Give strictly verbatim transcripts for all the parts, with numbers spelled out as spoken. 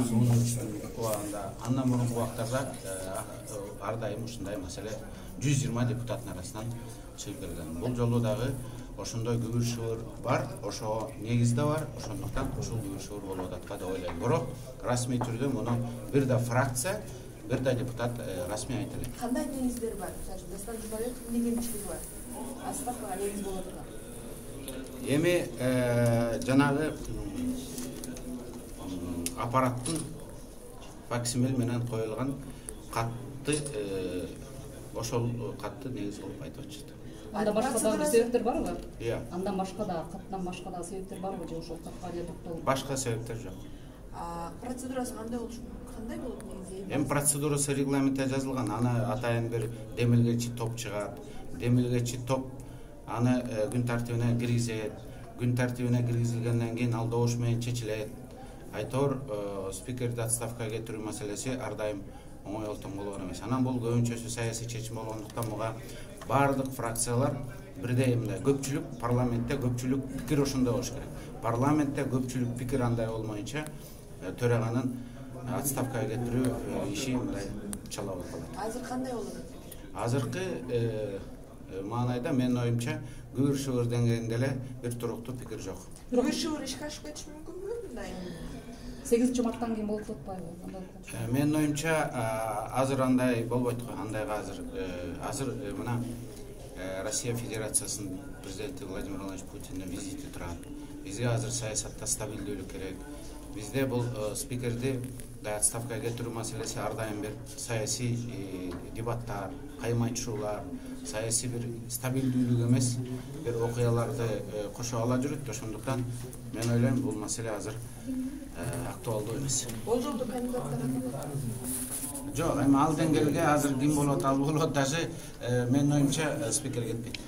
университеттин убагында андан мурунку убактарда ар дайым ушундай маселе жүз жыйырма депутаттын арасынан чыгып келген. Бул жолу дагы ошондой күбүр шыбыр бар, ошо негизде бар, ошондуктан ушул күбүр шыбыр болуп атат деп ойлойм. Бирок расмий түрдө муну бир да фракция, бир да депутат расмий айта элек. Кандай негиздер бар? Мисалы Дастан Жумабеков эмне кемчилиги бар? Отставкага негиз боло турган. Эми жанагы аппараттын факсимил менен коюлган катты ошол катты негиз кылып айтып атышат. Андан башка дагы себептер барбы? Иә. Андан башка да, каттан башка да себептер барбы же ошол катка эле токтолуп? Башка себептер жок. А процедурасы кандай болушу кандай болот негизи? Эми процедурасы регламентте жазылган. Аны атайын бир демилгечи топ чыгат. Демилгечи топ аны күн тартибине киргизет. Күн тартибине киргизилгенден кийин ал добуш менен чечилет. Айтор спикерди отставкага кетирүү маселеси ар дайым оңой олтон болгон эмес. Анан бул көбүнчөсү саясий чечим болгондуктан буга бардык фракциялар бирдей мындай көпчүлүк парламентте көпчүлүк пикир ошондой болуш керек. Парламентте көпчүлүк пикир андай болмоюнча төраганын отставкага кетирүү иши мындай чала болуп калат. Азыр кандай болот? Азыркы маанайда менин оюмча күбүр шыбыр деңгээлинде эле бир туруктуу пикир жок. Күбүр шыбыр ишке ашып кетиши мүмкүнбү мындай? сегизинчи марттан кийин болуп атпайбы? Менин оюмча азыр андай болбойт го. Андайга азыр азыр мына Россия Федерациясынын президенти Владимир Владимирович Путиндин визити турат. Бизге азыр саясатта стабилдүүлүк керек. Бизде бул спикерди отставкага кетирүү маселеси ар дайым бир саясий дебаттар, каймайчуулар, саясий бир стабилдүүлүк эмес, бир окуяларды кошо ала жүрөт. Ошондуктан мен ойлойм бул маселе азыр актуалдуу эмес. Бул жолду кандидаттар Жок, эми ал деңгээлге азыр ким болот, ал болот, даже менин оюмча спикер кетпейт.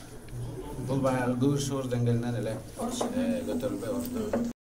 Бул баягы күбүр шыбыр деңгээлинен эле көтөрүлбөй орто.